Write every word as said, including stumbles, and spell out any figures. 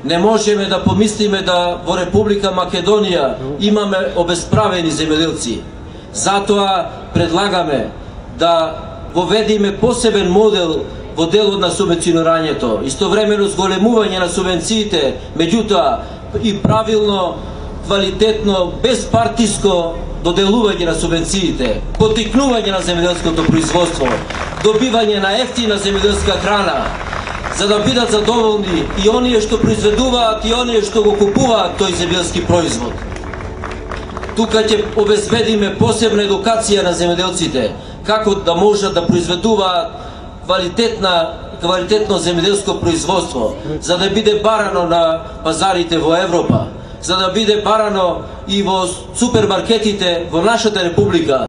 Не можеме да помислиме да во Република Македонија имаме обесправени земјоделци. Затоа предлагаме да воведиме посебен модел во делот на субвенционирањето, истовремено зголемување на субвенциите, меѓутоа и правилно, квалитетно, безпартиско доделување на субвенциите, поттикнување на земјоделското производство, добивање на ефтина земјоделска храна, за да бидат задоволни и оние што произведуваат и оние што го купуваат тој земјоделски производ. Тука ќе обезбедиме посебна едукација на земјоделците, како да можат да произведуваат квалитетна, квалитетно земјоделско производство, за да биде барано на пазарите во Европа, за да биде барано и во супермаркетите во нашата република,